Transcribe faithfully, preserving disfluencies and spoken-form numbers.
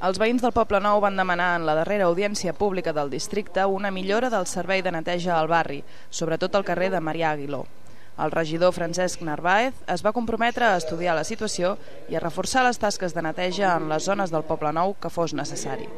Els veïns del Poble Nou van demanar en la darrera audiència pública del districte una millora del servei de neteja al barri, sobretot al carrer de Marià Aguiló. El regidor Francesc Narváez es va comprometre a estudiar la situació i a reforçar les tasques de neteja en les zones del Poble Nou que fos necessari.